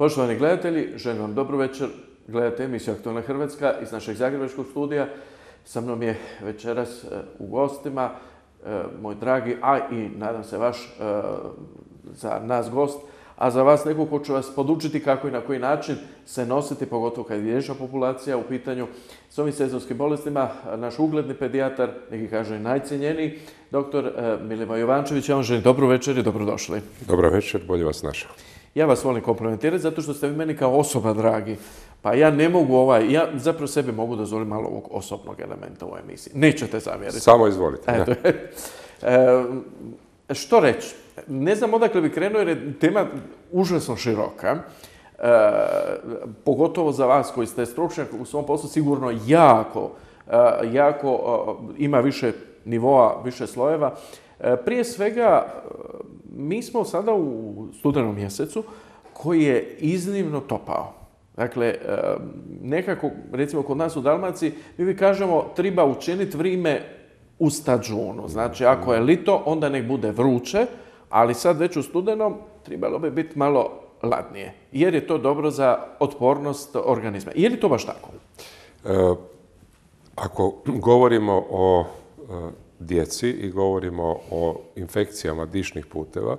Poštovani gledatelji, želim vam dobro večer. Gledate emisiju Aktualna Hrvatska iz našeg zagrebačkog studija. Sa mnom je večeras u gostima moj dragi, a i nadam se vaš za nas gost, a za vas neko ko će vas podučiti kako i na koji način se nositi, pogotovo kad je dječja populacija u pitanju s ovim sezonskim bolestima. Naš ugledni pedijatar, neki kažu i najcijenjeniji, dr. Milivoj Jovančević. Ja vam želim dobro večer i dobrodošli. Dobro večer, bolje vas našao. Ja vas volim komplimentirati zato što ste vi meni kao osoba dragi. Pa ja ne mogu ja zapravo sebi mogu dozvoliti malo ovog osobnog elementa u ovoj emisiji. Nećete zamjeriti. Samo izvolite. Što reći? Ne znam odakle bi krenuo jer je tema užasno široka. Pogotovo za vas koji ste stručnjak u svom poslu, sigurno jako ima više nivoa, više slojeva. Prije svega, mi smo sada u studenom mjesecu koji je iznimno topao. Dakle, nekako, recimo kod nas u Dalmaciji, mi kažemo treba učiniti vrime u stađunu. Znači, ako je lito, onda nek bude vruće, ali sad već u studenom trebalo bi biti malo ladnije, jer je to dobro za otpornost organizma. Je li to baš tako? Ako govorimo o djeci i govorimo o infekcijama dišnih puteva,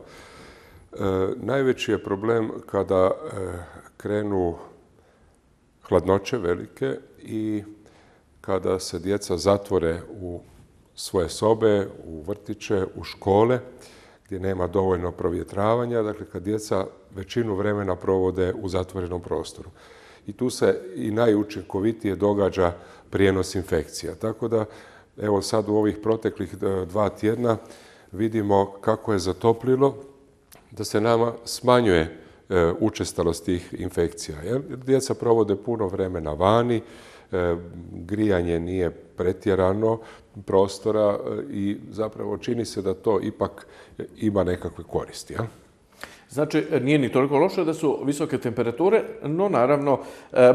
najveći je problem kada krenu hladnoće velike i kada se djeca zatvore u svoje sobe, u vrtiće, u škole, gdje nema dovoljno provjetravanja, dakle kad djeca većinu vremena provode u zatvorenom prostoru. I tu se i najučinkovitije događa prijenos infekcija. Tako da, evo sad u ovih proteklih 2 tjedna vidimo kako je zatoplilo, da se nama smanjuje učestalost tih infekcija. Jer djeca provode puno vremena vani, grijanje nije pretjerano prostora i zapravo čini se da to ipak ima nekakve koristi. Znači, nije ni toliko loše da su visoke temperature, no naravno,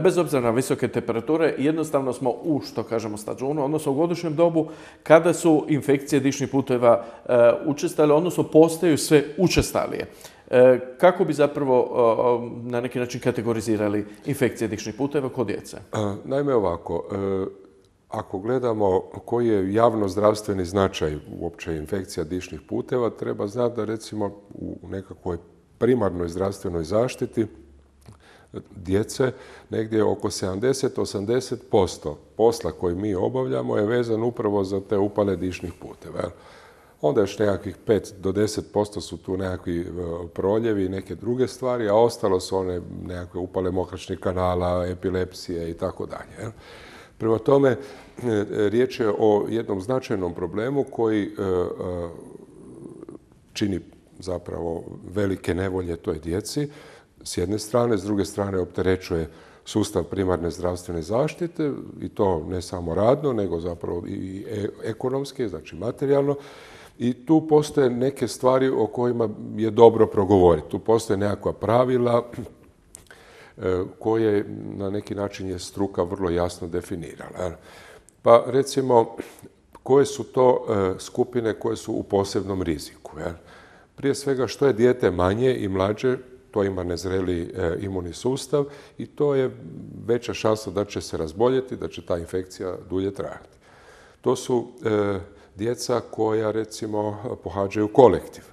bez obzira na visoke temperature, jednostavno smo u, što kažemo, stađunu, odnosno u godišnjem dobu, kada su infekcije dišnih puteva učestale, odnosno postaju sve učestalije. Kako bi zapravo na neki način kategorizirali infekcije dišnih puteva kod djece? Naime ovako, ako gledamo koji je javno-zdravstveni značaj uopće infekcija dišnih puteva, treba znati da recimo u nekakvoj primarnoj zdravstvenoj zaštiti djece negdje oko 70-80% posla koji mi obavljamo je vezan upravo za te upale dišnih puteva. Onda još nekakvih 5 do 10% su tu nekakvi proljevi i neke druge stvari, a ostalo su one nekakve upale mokraćnih kanala, epilepsije i tako dalje. Prema tome, riječ je o jednom značajnom problemu koji čini zapravo velike nevolje toj djeci s jedne strane, s druge strane opterećuje sustav primarne zdravstvene zaštite i to ne samo radno, nego zapravo i ekonomski, znači materijalno. I tu postoje neke stvari o kojima je dobro progovoriti. Tu postoje nekakva pravila koje na neki način je struka vrlo jasno definirala. Pa recimo, koje su to skupine koje su u posebnom riziku? Prije svega, što je dijete manje i mlađe, to ima nezreli imunni sustav i to je veća šansa da će se razboljeti, da će ta infekcija dulje trajati. To su djeca koja, recimo, pohađaju kolektiv.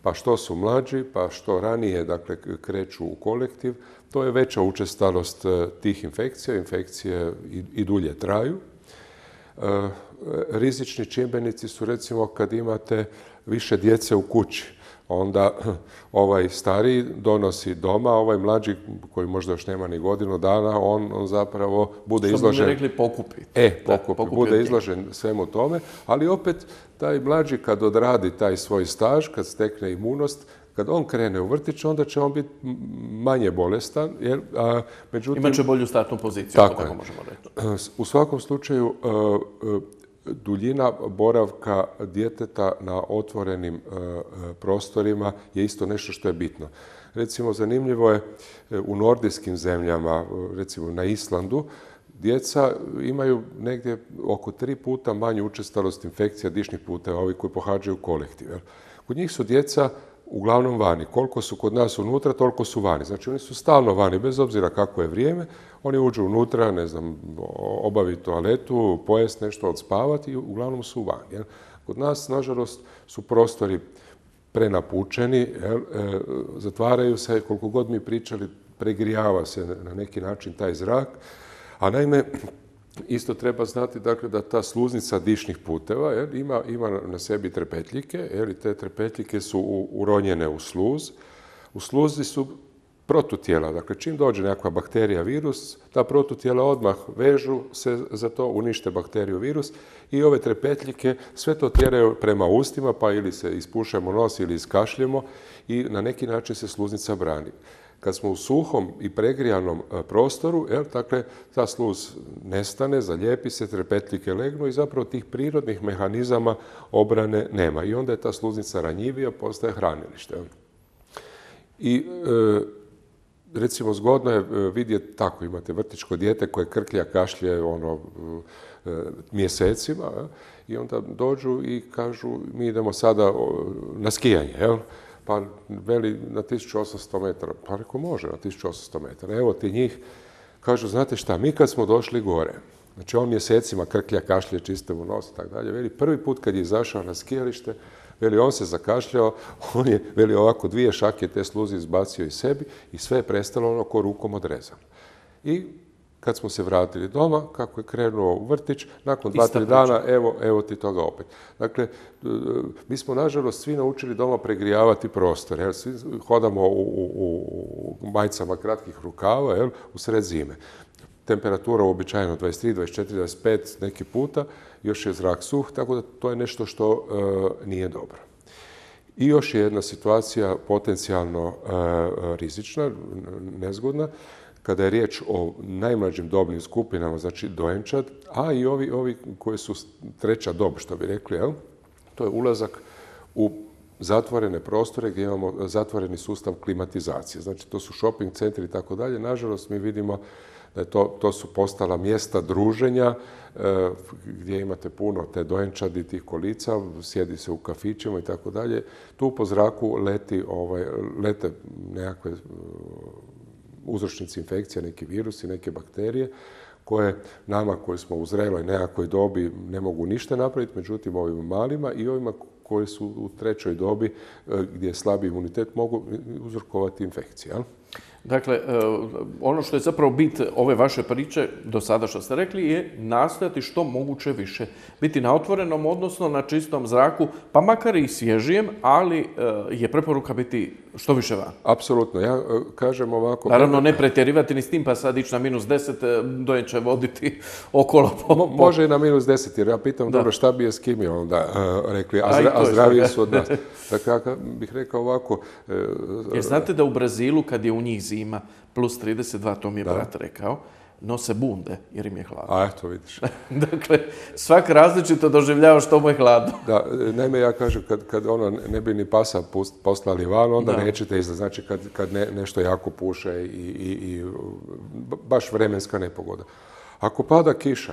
Pa što su mlađi, pa što ranije, dakle, kreću u kolektiv, to je veća učestalost tih infekcija. Infekcije i dulje traju. Rizični čimbenici su, recimo, kad imate više djece u kući. Onda ovaj stariji donosi doma, ovaj mlađi, koji možda još nema ni godinu dana, on zapravo bude izložen... Što bi mi rekli pokupi. Pokupi. Bude izložen svemu tome, ali opet taj mlađi kad odradi taj svoj staž, kad stekne imunost, kad on krene u vrtić, onda će on biti manje bolestan. Međutim, imaće bolju startnu poziciju, tako možemo reći. U svakom slučaju, duljina boravka djeteta na otvorenim prostorima je isto nešto što je bitno. Recimo, zanimljivo je u nordijskim zemljama, recimo na Islandu, djeca imaju negdje oko 3 puta manju učestalost infekcija dišnih puteva, ovi koji pohađaju kolektiv. Kod njih su djeca uglavnom vani. Koliko su kod nas unutra, toliko su vani. Znači oni su stalno vani, bez obzira kako je vrijeme, oni uđu unutra, ne znam, obaviti toaletu, pojest nešto, odspavati i uglavnom su vani. Jel? Kod nas, nažalost, su prostori prenapučeni, zatvaraju se, koliko god mi pričali, pregrijava se na neki način taj zrak, a naime, isto treba znati dakle, da ta sluznica dišnih puteva ima na sebi trepetljike, i te trepetljike su uronjene u sluz. U sluzi su protutijela, dakle čim dođe nekakva bakterija, virus, ta protutijela odmah vežu se za to, unište bakteriju, virus i ove trepetljike sve to tjeraju prema ustima, pa ili se ispušemo nos ili iskašljemo i na neki način se sluznica brani. Kad smo u suhom i pregrijanom prostoru, dakle, ta sluz nestane, zalijepi se, trepetljike legnu i zapravo tih prirodnih mehanizama obrane nema. I onda je ta sluznica ranjivija, postaje hranilište. I recimo zgodno je vidjeti tako, imate vrtićko dijete koje krklja, kašlje mjesecima i onda dođu i kažu mi idemo sada na skijanje, pa veli na 1800 metara. Pa reko može na 1800 metara. Evo ti njih. Kažu, znate šta, mi kad smo došli gore, znači on mjesecima krklja, kašlje, čiste mu nos i tako dalje. Veli, prvi put kad je izašao na skijalište, veli, on se zakašljao, on je, veli, ovako 2 šake te sluzi izbacio iz sebi i sve je prestalo ono ko rukom odrezano. I kad smo se vratili doma, kako je krenuo u vrtić, nakon 2-3 dana, evo ti toga opet. Dakle, mi smo nažalost svi naučili doma pregrijavati prostor. Jel? Svi hodamo u majicama kratkih rukava, u sred zime. Temperatura uobičajeno 23, 24, 25 neki puta, još je zrak suh, tako da to je nešto što nije dobro. I još je jedna situacija potencijalno rizična, nezgodna, kada je riječ o najmlađim dobnim skupinama, znači dojenčad, a i ovi koji su treća dob, što bi rekli, to je ulazak u zatvorene prostore gdje imamo zatvoreni sustav klimatizacije. Znači, to su shopping centri i tako dalje. Nažalost, mi vidimo da to su postala mjesta druženja gdje imate puno te dojenčadi, tih kolica, sjedi se u kafićima i tako dalje. Tu po zraku lete nekakve uzročnici infekcija, neki virusi, neke bakterije, koje nama koji smo u zreloj nekakvoj dobi ne mogu ništa napraviti, međutim ovim malima i ovima koji su u trećoj dobi gdje je slabi imunitet mogu uzrokovati infekcije. Dakle, ono što je zapravo bit ove vaše priče do sada što ste rekli je nastojati što moguće više. Biti na otvorenom, odnosno na čistom zraku, pa makar i svježijem, ali je preporuka biti što više van. Apsolutno. Ja kažem ovako... Naravno, ne pretjerivati ni s tim, pa sad ići na -10, dojenče voditi okolo. Može i na -10, jer ja pitam, dobro, šta bi je s kim je onda rekli, a zdraviji su od nas. Dakle, ja bih rekao ovako... Jer znate da u Brazilu, kad je u njih zima +32, to mi je brat rekao, nose bunde jer im je hladno. A eto, vidiš. Dakle, svak različito doživljava što mu je hladno. Da, naime ja kažem, kad ne bi ni pasa poslali van, onda nećete izlaziti. Znači, kad nešto jako puše i baš vremenska nepogoda. Ako pada kiša,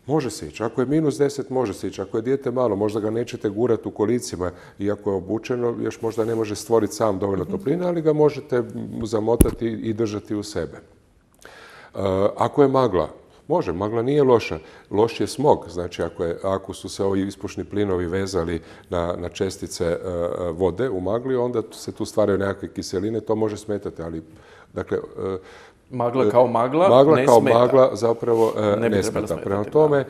može se ići. Ako je -10, može se ići. Ako je dijete malo, možda ga nećete gurati u kolicima, iako je obučeno, još možda ne može stvoriti sam dovoljno topline, ali ga možete zamotati i držati u sebe. Ako je magla, može, magla nije loša. Loš je smog, znači ako su se ovi ispušni plinovi vezali na čestice vode u magli, onda se tu stvaraju nekakve kiseline, to može smetati, ali dakle... Magla kao magla ne kao smeta. magla zapravo ne smeta. Prema tome,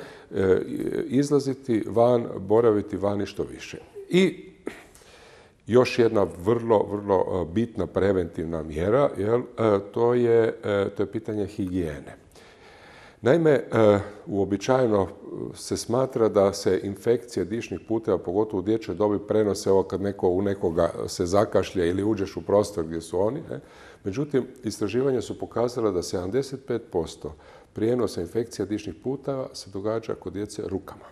izlaziti van, boraviti vani što više. I još jedna vrlo, vrlo bitna preventivna mjera, to je pitanje higijene. Naime, uobičajeno se smatra da se infekcije dišnih puteva, pogotovo u dječjoj dobi, prenose kad u nekoga se zakašlje ili uđeš u prostor gdje su oni. Međutim, istraživanja su pokazala da 75% prijenosa infekcija dišnih puteva se događa kod djece rukama.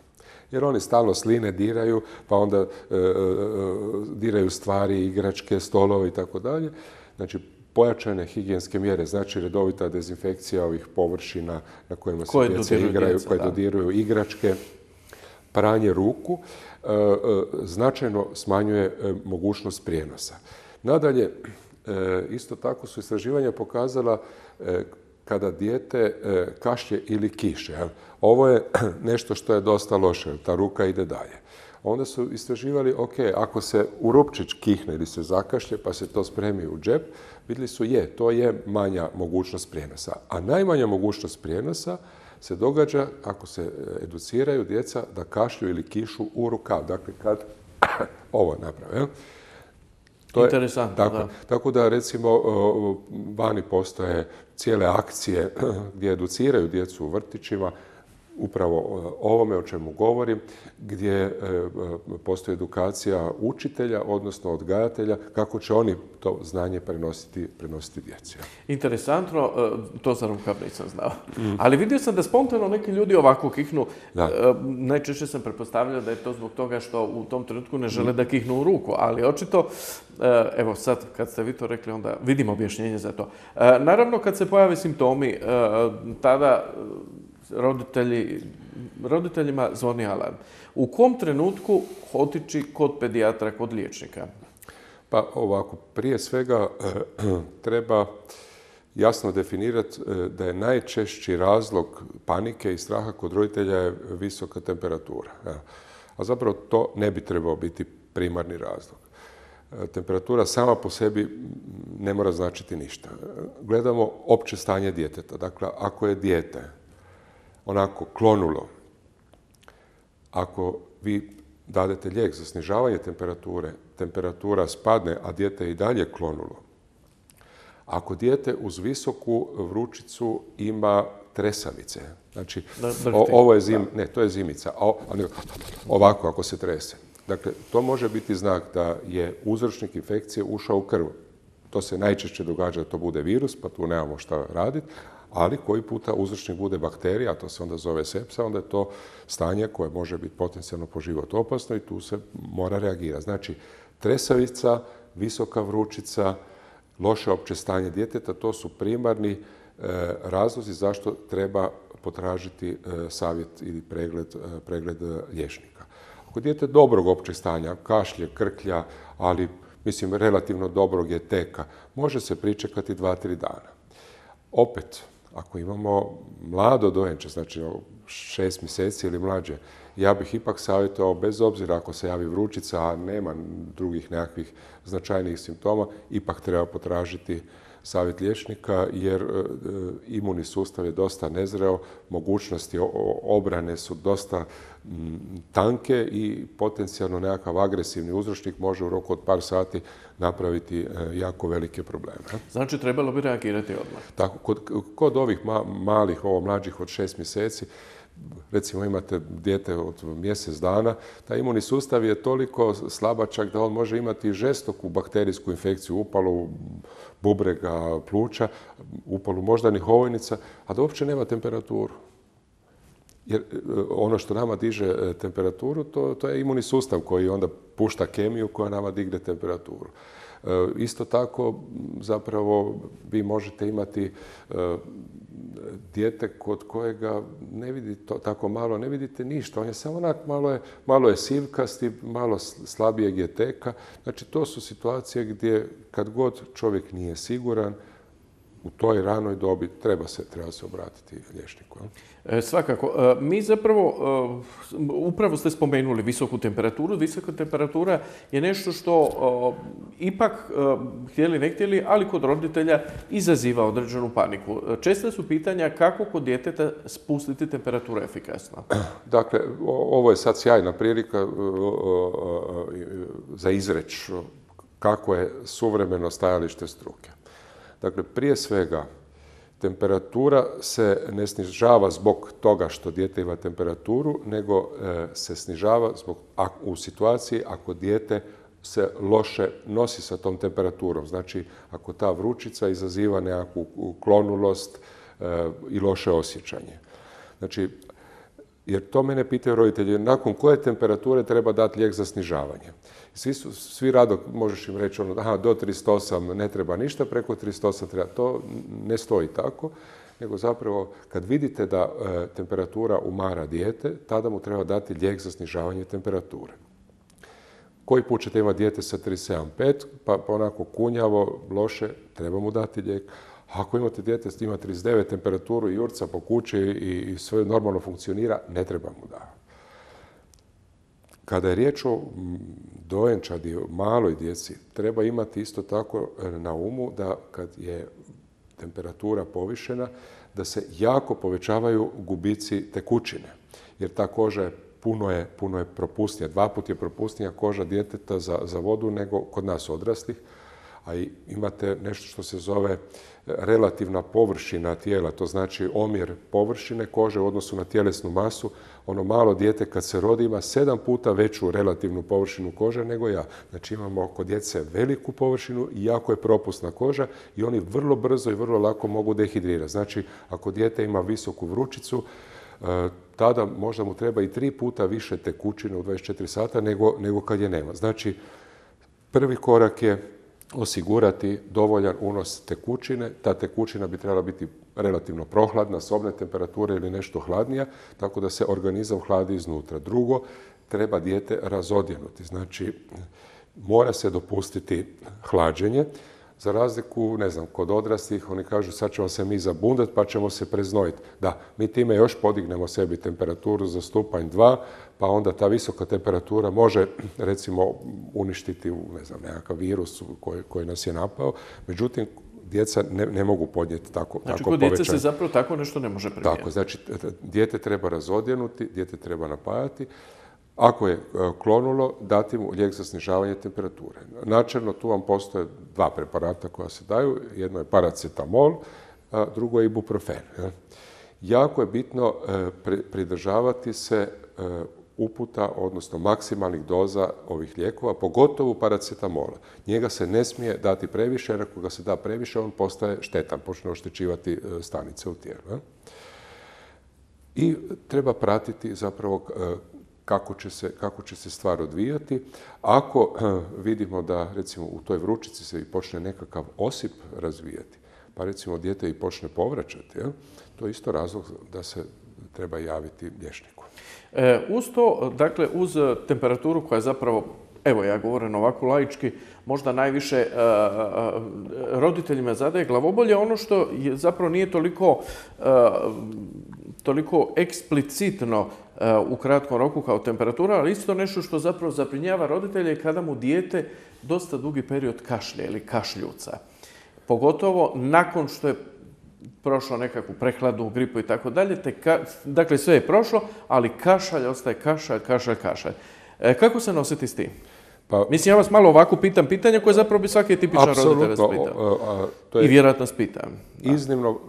Jer oni stalno sline diraju, pa onda diraju stvari, igračke, stolove i tako dalje. Znači, pojačane higijenske mjere, znači redovita dezinfekcija ovih površina na kojima se djeca igraju, koje dodiruju igračke, pranje ruku značajno smanjuje mogućnost prijenosa. Nadalje, isto tako su istraživanja pokazala kada dijete kašlje ili kiše. Ovo je nešto što je dosta loše, ta ruka ide dalje. Onda su istraživali, ok, ako se u rupčić kihne ili se zakašlje pa se to spremi u džep, vidjeli su to je manja mogućnost prijenosa. A najmanja mogućnost prijenosa se događa ako se educiraju djeca da kašlju ili kišu u rukav. Dakle, kad ovo naprave. Interesantno, da. Tako da, recimo, vani postoje cijele akcije gdje educiraju djecu u vrtićima, upravo ovome o čemu govorim, gdje postoji edukacija učitelja, odnosno odgajatelja, kako će oni to znanje prenositi djeci. Interesantno, to za rukav nisam znao. Ali vidio sam da spontano neki ljudi ovako kihnu. Najčešće sam pretpostavljao da je to zbog toga što u tom trenutku ne žele da kihnu u ruku, ali očito, evo sad kad ste vi to rekli, onda vidim objašnjenje za to. Naravno, kad se pojave simptomi, tada roditeljima zvoni alarm. U kom trenutku otići kod pedijatra, kod liječnika? Pa ovako, prije svega treba jasno definirati da je najčešći razlog panike i straha kod roditelja je visoka temperatura. A zapravo to ne bi trebao biti primarni razlog. Temperatura sama po sebi ne mora značiti ništa. Gledamo opće stanje djeteta. Dakle, ako je dijete onako klonulo, ako vi dadete lijek za snižavanje temperature, temperatura spadne, a dijete je i dalje klonulo. Ako dijete uz visoku vrućicu ima tresavice, znači ovo je to je zimica, ovako ako se trese. Dakle, to može biti znak da je uzročnik infekcije ušao u krv. To se najčešće događa da to bude virus, pa tu nemamo šta raditi, ali koji puta uzročnik bude bakterija, a to se onda zove sepsa, onda je to stanje koje može biti potencijalno po život opasno i tu se mora reagirati. Znači, tresavica, visoka vrućica, loše opće stanje djeteta, to su primarni razlozi zašto treba potražiti savjet ili pregled liječnika. Ako dijete dobrog općeg stanja, kašlje, krklja, ali mislim relativno dobrog je teka, može se pričekati 2-3 dana. Opet, ako imamo mlado dojenče, znači 6 mjeseci ili mlađe, ja bih ipak savjetovao, bez obzira ako se javi vrućica, a nema drugih nekakvih značajnijih simptoma, ipak treba potražiti savjet liječnika jer imunni sustav je dosta nezreo, mogućnosti obrane su dosta tanke i potencijalno nekakav agresivni uzročnik može u roku od par sati napraviti jako velike probleme. Znači, trebalo bi reagirati odmah. Tako, kod ovih malih, mlađih od 6 mjeseci, recimo imate dijete od mjesec dana, taj imunni sustav je toliko slabačak da on može imati žestoku bakterijsku infekciju, upalu bubrega, pluća, upalu moždanih ovojnica, a da uopće nema temperaturu. Jer ono što nama diže temperaturu, to je imunni sustav koji onda pušta kemiju koja nama digne temperaturu. Isto tako, zapravo, vi možete imati dijete kod kojega ne vidite tako malo, ne vidite ništa. On je samo onak, malo je sivkasti, malo slabijeg je teka. Znači, to su situacije gdje kad god čovjek nije siguran, u toj ranoj dobi treba se obratiti liječniku. Svakako. Mi zapravo, upravo ste spomenuli visoku temperaturu. Visoka temperatura je nešto što ipak, htjeli ne htjeli, ali kod roditelja izaziva određenu paniku. Česta su pitanja kako kod djeteta spustiti temperaturu efikasno. Dakle, ovo je sad sjajna prilika za izreć kako je suvremeno stajalište struke. Dakle, prije svega, temperatura se ne snižava zbog toga što dijete ima temperaturu, nego se snižava u situaciji ako dijete se loše nosi sa tom temperaturom. Znači, ako ta vrućica izaziva nekakvu klonulost i loše osjećanje. Znači, jer to mene pitaju roditelji, nakon koje temperature treba dati lijek za snižavanje. Svi rado možeš im reći do 38 ne treba ništa, preko 38 treba. To ne stoji tako, nego zapravo kad vidite da temperatura umara dijete, tada mu treba dati lijek za snižavanje temperature. Koji put ćete imati dijete sa 37,5, pa onako kunjavo, loše, treba mu dati lijek. Ako imate dijete s ima 39 temperaturu i jurca po kući i sve normalno funkcionira, ne treba mu davati. Kada je riječ o dojenčadi, o maloj djeci, treba imati isto tako na umu da kad je temperatura povišena, da se jako povećavaju gubici tekućine. Jer ta koža je puno je propusnija. 2 puta je propusnija koža djeteta za vodu nego kod nas odraslih. A imate nešto što se zove relativna površina tijela, to znači omjer površine kože u odnosu na tjelesnu masu. Ono malo dijete kad se rodi ima 7 puta veću relativnu površinu kože nego ja. Znači imamo kod djece veliku površinu i jako je propusna koža i oni vrlo brzo i vrlo lako mogu dehidrirati. Znači ako dijete ima visoku vrućicu, tada možda mu treba i 3 puta više tekućine u 24 sata nego kad je nema. Znači prvi korak je osigurati dovoljan unos tekućine. Ta tekućina bi trebala biti relativno prohladna, sobne temperature ili nešto hladnija, tako da se organizam hladi iznutra. Drugo, treba dijete razodjenuti. Znači, mora se dopustiti hlađenje. Za razliku, ne znam, kod odraslih, oni kažu sad ćemo se mi zabundati pa ćemo se preznojiti. Da, mi time još podignemo sebi temperaturu za stupanj 2, pa onda ta visoka temperatura može, recimo, uništiti, ne znam, nekakav virus koji nas je napao. Međutim, djeca ne mogu podnijeti tako povećanje. Znači, kod djece se zapravo tako nešto ne može primijeniti. Tako, znači, dijete treba razodjenuti, dijete treba napajati. Ako je klonulo, dati mu lijek za snižavanje temperature. Načelno tu vam postoje 2 preparata koja se daju. Jedno je paracetamol, a drugo je ibuprofen. Jako je bitno pridržavati se uputa, odnosno maksimalnih doza ovih lijekova, pogotovo paracetamola. Njega se ne smije dati previše, jer ako ga se da previše, on postaje štetan, počne oštećivati stanice u tijelu. I treba pratiti zapravo kako će se stvar odvijati. Ako vidimo da, recimo, u toj vrućici se i počne nekakav osip razvijati, pa recimo dijete i počne povraćati, to je isto razlog da se treba javiti liječniku. Uz to, dakle, uz temperaturu koja je zapravo, evo ja govorim ovako laički, možda najviše roditeljima zadaje glavobolje, ono što je zapravo nije toliko eksplicitno u kratkom roku kao temperatura, ali isto nešto što zapravo zabrinjava roditelje kada mu dijete dosta dugi period kašlje ili kašljuca. Pogotovo nakon što je prošlo nekakvu prehladu, gripu i tako dalje. Dakle, sve je prošlo, ali kašalj ostaje kašalj. Kako se nositi s tim? Mislim, ja vas malo ovako pitam pitanje koje zapravo bi svaki tipičan roditelj vas pitao. I vjerojatno vas pitam.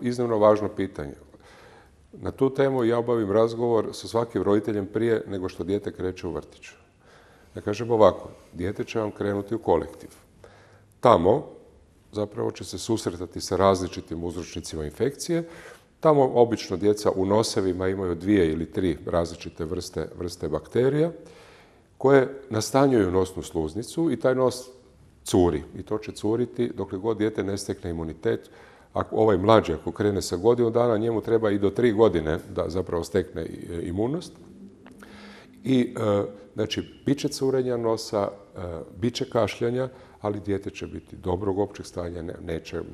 Iznimno važno pitanje. Na tu temu ja obavim razgovor sa svakim roditeljem prije nego što dijete kreće u vrtić. Ja kažem ovako, dijete će vam krenuti u kolektiv. Tamo zapravo će se susretati sa različitim uzročnicima infekcije. Tamo obično djeca u nosevima imaju 2 ili 3 različite vrste bakterija koje nastanjuju nosnu sluznicu i taj nos curi. I to će curiti dokle god dijete ne stekne imunitet. Ovaj mlađi, ako krene sa godinu dana, njemu treba i do 3 godine da zapravo stekne imunost. I, znači, bit će curenja nosa, bit će kašljanja, ali dijete će biti dobrog općeg stanja,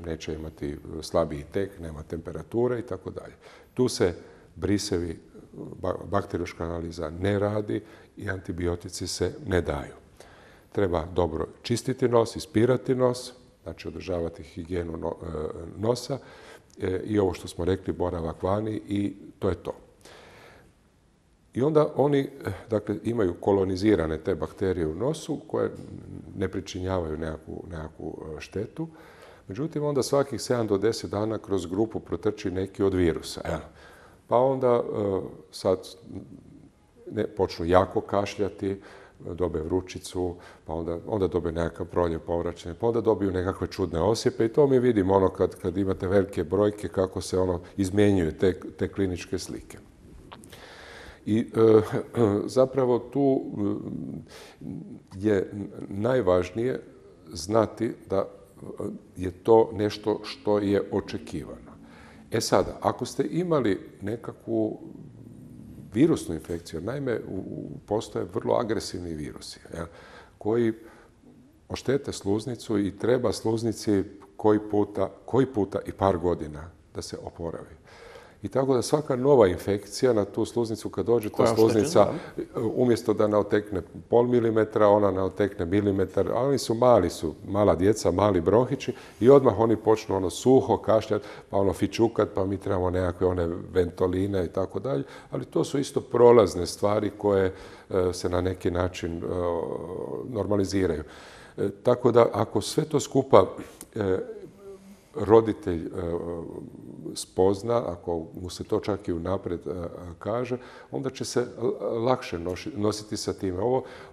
neće imati slabiji tek, nema temperature i tako dalje. Tu se brisevi, bakteriološka analiza ne radi i antibiotici se ne daju. Treba dobro čistiti nos, ispirati nos, znači održavati higijenu nosa i ovo što smo rekli, boravak vani i to je to. I onda oni, dakle, imaju kolonizirane te bakterije u nosu koje ne pričinjavaju nekakvu štetu. Međutim, onda svakih 7 do 10 dana kroz grupu protrči neki od virusa. Pa onda sad počnu jako kašljati, dobe vrućicu, pa onda dobe nekakav proljev povraćanje, pa onda dobiju nekakve čudne osjepe i to mi vidimo kad imate velike brojke kako se izmjenjuju te kliničke slike. I zapravo tu je najvažnije znati da je to nešto što je očekivano. E sada, ako ste imali nekakvu virusnu infekciju, naime, postoje vrlo agresivni virusi, koji oštete sluznicu i treba sluznici koji puta i par godina da se oporavi. I tako da svaka nova infekcija na tu sluznicu, kad dođe ta sluznica, umjesto da naotekne pol milimetra, ona naotekne milimetar, a oni su mala djeca, mali bronhići i odmah oni počnu suho kašljati, pa fičukat, pa mi trebamo nekakve one ventoline i tako dalje, ali to su isto prolazne stvari koje se na neki način normaliziraju. Tako da ako sve to skupa roditelj spozna, ako mu se to čak i unaprijed kaže, onda će se lakše nositi sa time.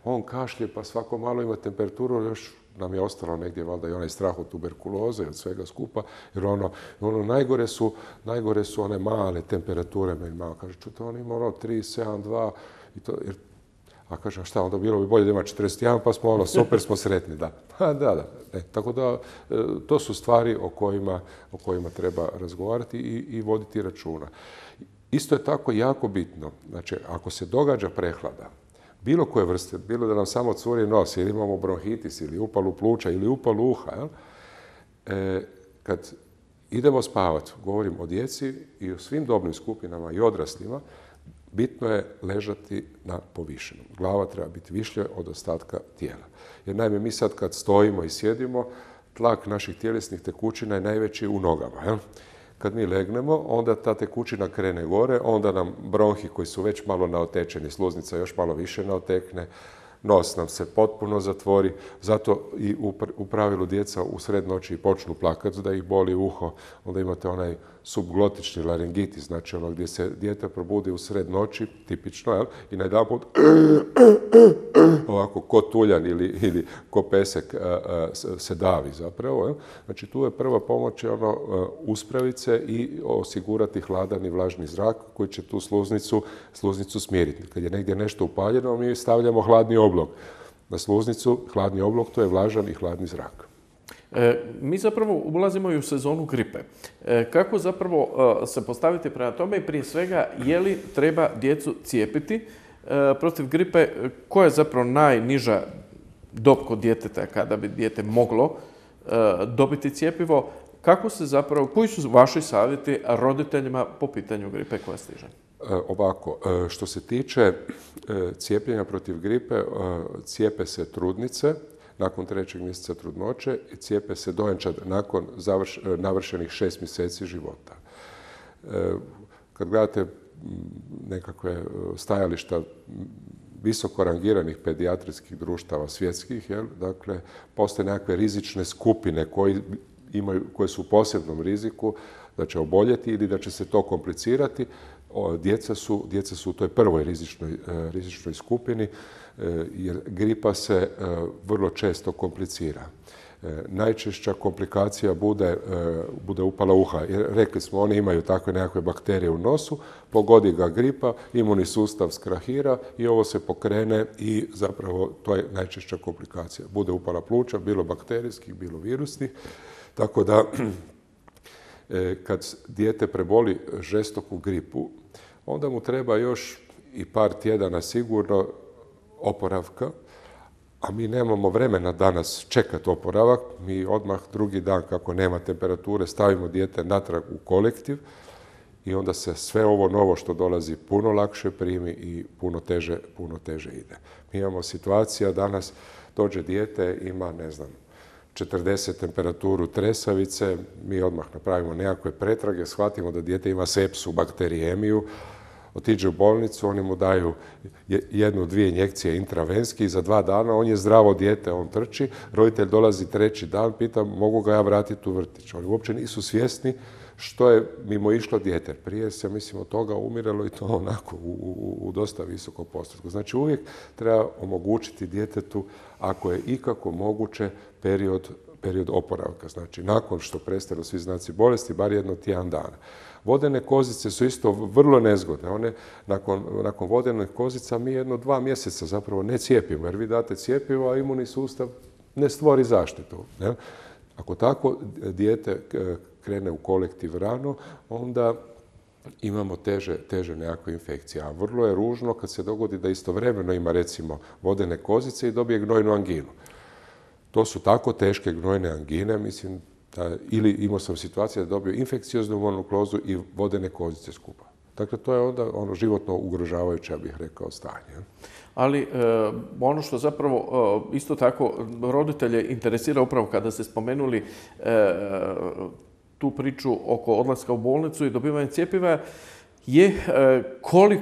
On kašlje, pa svako malo ima temperaturu, još nam je ostalo negdje valjda i onaj strah od tuberkuloze i od svega skupa, jer najgore su one male temperature. Meni mama kaže, čute, on ima 3,7,2 i to, jer a kažem, šta, onda bilo bi bolje da ima 41, pa smo super smo sretni, da. Da. Tako da, to su stvari o kojima treba razgovarati i voditi računa. Isto je tako jako bitno, znači, ako se događa prehlada, bilo koje vrste, bilo da nam samo curi nos, ili imamo bronhitis, ili upalu pluća, ili upalu uha, kad idemo spavati, govorim o djeci i o svim dobnim skupinama i odraslima, bitno je ležati na povišenom. Glava treba biti višlja od ostatka tijela. Jer naime, mi sad kad stojimo i sjedimo, tlak naših tjelesnih tekućina je najveći u nogama. Kad mi legnemo, onda ta tekućina krene gore, onda nam bronhi koji su već malo naotečeni, sluznica još malo više naotekne, nos nam se potpuno zatvori, zato i u pravilu djeca u sred noći počnu plakati da ih boli uho, onda imate onaj subglotični laringitis, znači ono gdje se dijete probudi u sred noći, tipično, i najedanput ovako ko tuljan ili ko pesek se davi zapravo. Znači tu je prva pomoć uspraviti se i osigurati hladan i vlažni zrak koji će tu sluznicu smiriti. Kad je negdje nešto upaljeno, mi stavljamo hladni oblog. Na sluznicu hladni oblog, to je vlažan i hladni zrak. Mi zapravo ulazimo i u sezonu gripe. Kako zapravo se postaviti prema tome i prije svega je li treba djecu cijepiti protiv gripe? Koja je zapravo najniža dob kod djeteta kada bi dijete moglo dobiti cjepivo? Koji su vaši savjeti roditeljima po pitanju gripe koja stiže? Ovako, što se tiče cijepljenja protiv gripe, cijepe se trudnice nakon 3. mjeseca trudnoće i cijepe se dojenčad nakon navršenih 6 mjeseci života. Kad gledate nekakve stajališta visoko rangiranih pedijatrijskih društava svjetskih, dakle, postoje nekakve rizične skupine koje su u posebnom riziku da će oboljeti ili da će se to komplicirati. Djeca su u toj prvoj rizičnoj skupini, jer gripa se vrlo često komplicira. Najčešća komplikacija bude upala uha. Jer rekli smo, oni imaju takve nekakve bakterije u nosu, pogodi ga gripa, imunni sustav skrahira i ovo se pokrene i zapravo to je najčešća komplikacija. Bude upala pluća, bilo bakterijskih, bilo virusnih. Tako da, kad dijete preboli žestoku gripu, onda mu treba još i par tjedana sigurno oporavka, a mi nemamo vremena danas čekati oporavak. Mi odmah drugi dan, kako nema temperature, stavimo dijete natrag u kolektiv i onda se sve ovo novo što dolazi puno lakše primi i puno teže ide. Mi imamo situacija danas, dođe dijete, ima, 40 temperaturu tresavice, mi odmah napravimo nekakve pretrage, shvatimo da dijete ima sepsu, bakterijemiju, otiđe u bolnicu, oni mu daju 1-2 injekcije intravenski i za 2 dana on je zdravo dijete, on trči, roditelj dolazi 3. dan, pita mogu ga ja vratiti u vrtić. Oni uopće nisu svjesni što je mimo išlo dijete. Prije se, mislim, od toga umiralo i to onako u dosta visokom postotku. Znači uvijek treba omogućiti djetetu, ako je ikako moguće, period oporavka. Znači nakon što prestanu svi znaci bolesti, bar jedno tjedan dana. Vodene kozice su isto vrlo nezgodne. One, nakon vodenih kozica mi 1-2 mjeseca zapravo ne cijepimo, jer vi date cjepivo, a imunni sustav ne stvori zaštitu. Ne? Ako tako dijete krene u kolektiv rano, onda imamo teže nekakve infekcije. A vrlo je ružno kad se dogodi da istovremeno ima recimo vodene kozice i dobije gnojnu anginu. To su tako teške gnojne angine, mislim, ili imao sam situaciju da dobio infekcioznu mononukleozu i vodene kozice skupa. Dakle, to je onda ono životno ugrožavajuće, ja bih rekao, stanje. Ali ono što zapravo isto tako roditelje interesira upravo kada ste spomenuli tu priču oko odlaska u bolnicu i dobivanja cjepiva je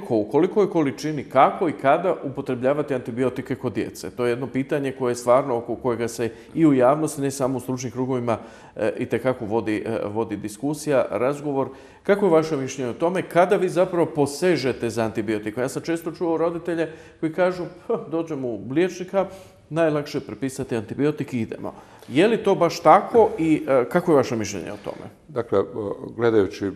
u kolikoj količini, kako i kada upotrebljavati antibiotike kod djece. To je jedno pitanje koje je stvarno oko kojega se i u javnosti, ne samo u stručnim krugovima, itekako vodi diskusija, razgovor. Kako je vaše mišljenje o tome kada vi zapravo posežete za antibiotikom? Ja sam često čuo roditelje koji kažu dođemo u liječnika, najlakše je prepisati antibiotik i idemo. Je li to baš tako i kako je vaše mišljenje o tome? Dakle, gledajući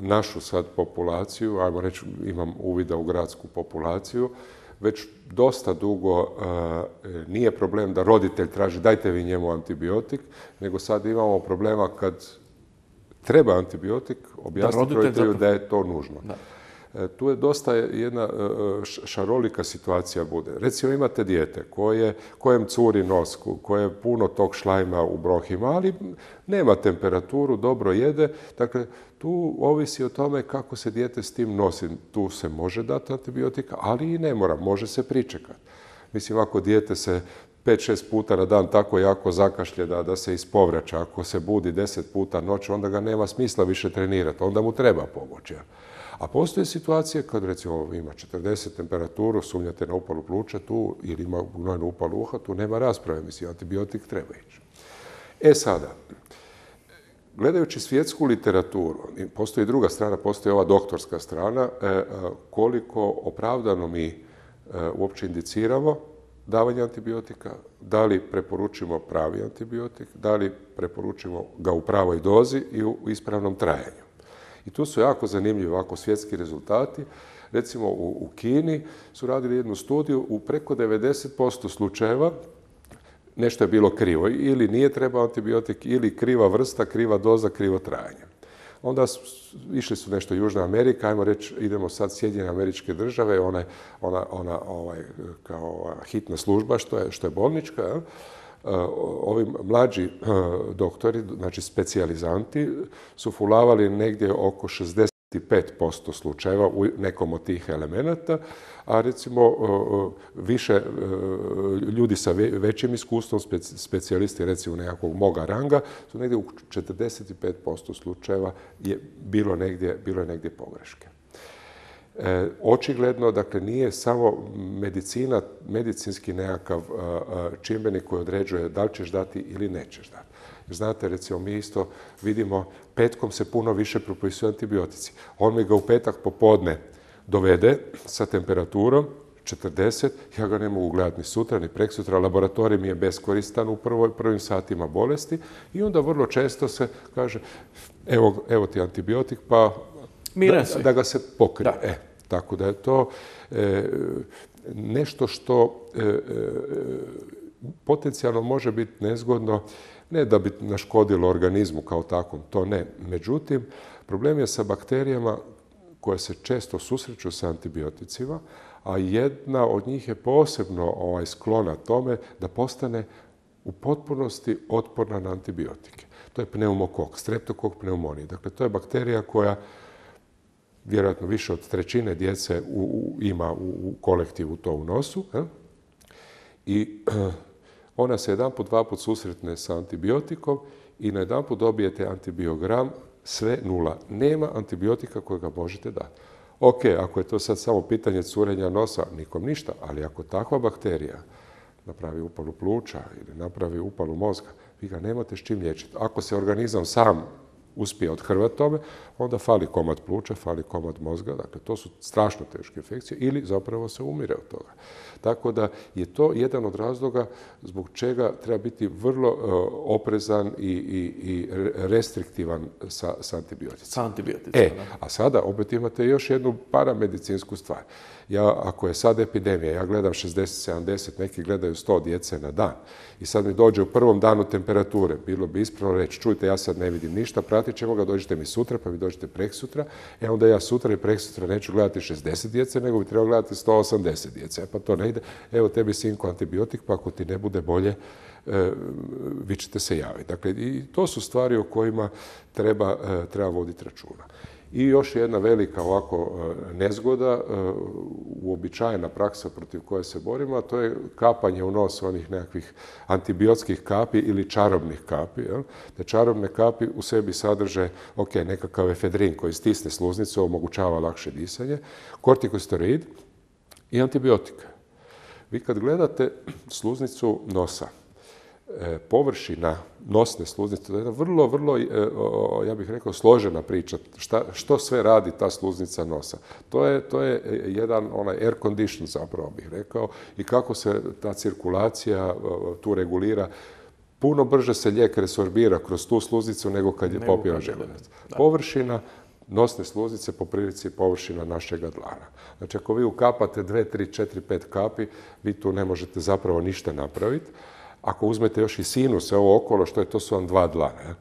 našu sad populaciju, ajmo reći imam uvida u gradsku populaciju, već dosta dugo nije problem da roditelj traži dajte vi njemu antibiotik, nego sad imamo problema kad treba antibiotik, objasniti roditelju da je to nužno. Da. Tu je dosta jedna šarolika situacija bude. Recimo imate dijete kojem curi nos, koje je puno tog šlajma u bronhima, ali nema temperaturu, dobro jede. Dakle, tu ovisi o tome kako se dijete s tim nosi. Tu se može dati antibiotika, ali i ne mora, može se pričekati. Mislim, ako dijete se 5-6 puta na dan tako jako zakašlje da se ispovraća, ako se budi 10 puta noć, onda ga nema smisla više trenirati, onda mu treba pomoć. A postoje situacije kad recimo ima 40 temperaturu, sumnjate na upalu pluća tu ili ima gnojnu upalu uha, tu nema rasprave, mislim, antibiotik treba ići. Sada, gledajući svjetsku literaturu, postoji druga strana, postoji ova doktorska strana, koliko opravdano mi uopće indiciramo davanje antibiotika, da li preporučimo pravi antibiotik, da li preporučimo ga u pravoj dozi i u ispravnom trajanju. I tu su jako zanimljivi ovako svjetski rezultati. Recimo u Kini su radili jednu studiju, u preko 90% slučajeva nešto je bilo krivo. Ili nije trebao antibiotik, ili kriva vrsta, kriva doza, krivo trajanje. Onda išli su nešto Južna Amerika, ajmo reći, idemo sad Sjedinjene Američke Države, ona kao hitna služba, što je bolnička. Ovi mlađi doktori, znači specijalizanti, su fulavali negdje oko 65% slučajeva u nekom od tih elemenata, a recimo više ljudi sa većim iskustvom, specijalisti recimo nekakvog moga ranga, su negdje u 45% slučajeva je bilo negdje pogreške. Očigledno, dakle, nije samo medicina, medicinski nekakav čimbenik koji određuje da li ćeš dati ili nećeš dati. Znate, recimo, mi isto vidimo, petkom se puno više propisuju antibiotici. On mi ga u petak popodne dovede sa temperaturom 40, ja ga ne mogu gledati ni sutra, ni preksutra, laboratorij mi je beskoristan u prvim satima bolesti i onda vrlo često se kaže, evo ti antibiotik, pa da ga se pokrije. Tako da je to nešto što potencijalno može biti nezgodno, ne da bi naškodilo organizmu kao takvom, to ne. Međutim, problem je sa bakterijama koje se često susreću sa antibioticima, a jedna od njih je posebno sklona tome da postane u potpunosti otporna na antibiotike. To je pneumokok, streptokok pneumonije. Dakle, to je bakterija koja vjerojatno više od 1/3 djece ima u kolektivu to u nosu. I ona se jedanput, dvaput susretne sa antibiotikom i na jedanput dobijete antibiogram, sve nula. Nema antibiotika kojega možete dati. Ok, ako je to sad samo pitanje curenja nosa, nikom ništa, ali ako takva bakterija napravi upalu pluća ili napravi upalu mozga, vi ga nemate s čim liječiti. Ako se organizam sam uspije othrvati tome, onda fali komad pluća, fali komad mozga. Dakle, to su strašno teške infekcije ili zapravo se umire od toga. Tako da je to jedan od razloga zbog čega treba biti vrlo oprezan i restriktivan sa antibioticima. A sada opet imate još jednu paramedicinsku stvar. Ako je sad epidemija, ja gledam 60-70, neki gledaju 100 djece na dan i sad mi dođe u prvom danu temperature, bilo bi ispravno reći, čujte, ja sad ne vidim ništa, vratit ćemo ga, dođete mi sutra, pa vi dođete preksutra, onda ja sutra i preksutra neću gledati 60 djece, nego bi trebao gledati 180 djece. Pa to ne ide. Evo tebi sinko antibiotik, pa ako ti ne bude bolje, vi ćete se javiti. Dakle, i to su stvari o kojima treba voditi računa. I još jedna velika ovako nezgoda, uobičajena praksa protiv koje se borimo, a to je kapanje u nos onih nekakvih antibiotskih kapi ili čarobnih kapi. Te čarobne kapi u sebi sadrže nekakav efedrin koji stisne sluznicu, omogućava lakše disanje, kortikosteroid i antibiotika. Vi kad gledate sluznicu nosa, površina nosne sluznice, to je jedna vrlo, ja bih rekao, složena priča. Što sve radi ta sluznica nosa? To je jedan air condition, zapravo bih rekao, i kako se ta cirkulacija tu regulira. Puno brže se lijek resorbira kroz tu sluznicu nego kad je popio želudac. Površina nosne sluznice po prilici površina našega dlana. Znači, ako vi ukapate 2, 3, 4, 5 kapi, vi tu ne možete zapravo ništa napraviti. Ako uzmete još i sinuse, ovo okolo, to su vam 2 dlana.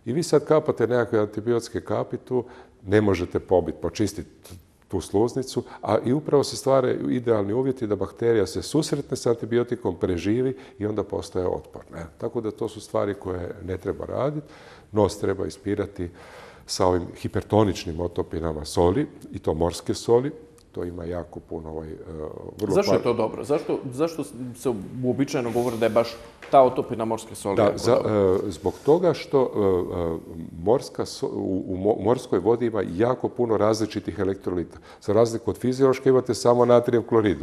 I vi sad kapate nekakve antibiotske kapi tu, ne možete počistiti tu sluznicu, a i upravo se stvaraju idealni uvjeti da bakterija se susretne s antibiotikom, preživi i onda postaje otporna. Tako da to su stvari koje ne treba raditi. Nos treba ispirati sa ovim hipertoničnim otopinama soli, i to morske soli. To ima jako puno vrlo... Zašto je to dobro? Zašto se uobičajeno govori da je baš ta otopina morske soli? Zbog toga što u morskoj vodi ima jako puno različitih elektrolita. Za razliku od fiziološke imate samo natrijev klorid,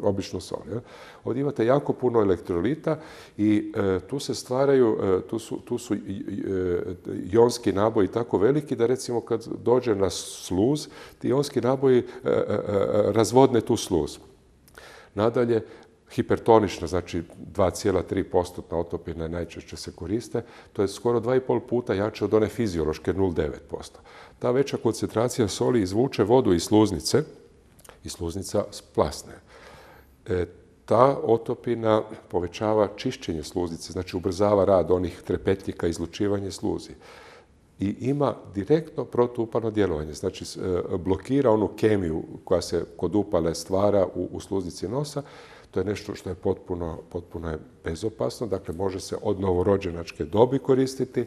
običnu sol. Ovdje imate jako puno elektrolita i tu se stvaraju, tu su ionski naboji tako veliki da recimo kad dođe na sluz, ti ionski naboji razvodne tu sluz. Nadalje, hipertonična, znači 2,3% otopine najčešće se koriste, to je skoro 2,5 puta jače od one fiziološke 0,9%. Ta veća koncentracija soli izvuče vodu iz sluznice i sluznica splasne. Ta otopina povećava čišćenje sluznice, znači ubrzava rad onih trepetljika, izlučivanje sluzi. I ima direktno protuupalno djelovanje, znači blokira onu kemiju koja se kod upale stvara u sluznici nosa. To je nešto što je potpuno bezopasno, dakle može se od novorođenačke dobi koristiti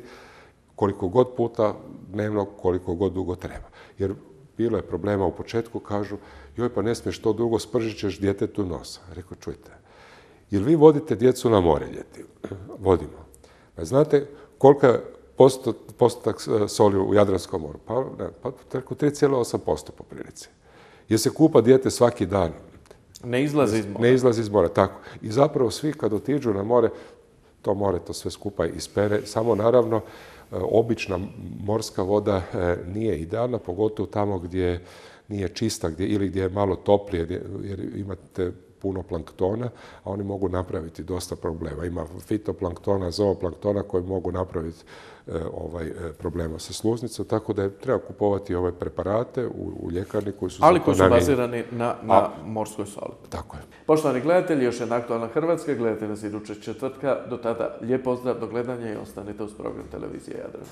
koliko god puta dnevno, koliko god dugo treba. Jer bilo je problema u početku, kažu, joj pa ne smiješ to dugo, spržit ćeš djetetu nosa. Rekao, čujte, jel vi vodite djecu na more ljeti? Vodimo. Znate koliko je postotak soli u Jadranskom moru? Pa 3,8% po prilici. Jer se kupa dijete svaki dan. Ne izlazi iz mora. Ne izlazi iz mora, tako. I zapravo svi kad otiđu na more, to more to sve skupa ispere. Samo naravno, obična morska voda nije idealna, pogotovo tamo gdje nije čista ili gdje je malo toplije, jer imate puno planktona, a oni mogu napraviti dosta problema. Ima fitoplanktona, zooplanktona koji mogu napraviti problema sa sluznicom, tako da treba kupovati ove preparate u ljekarni koji su... Ali koji su bazirani na morskoj soli. Tako je. Poštovani gledatelji, još jedna Aktualna Hrvatska, gledajte nas idućeg četvrtka. Do tada lijep pozdrav, do gledanja i ostanite uz program Televizije Jadran.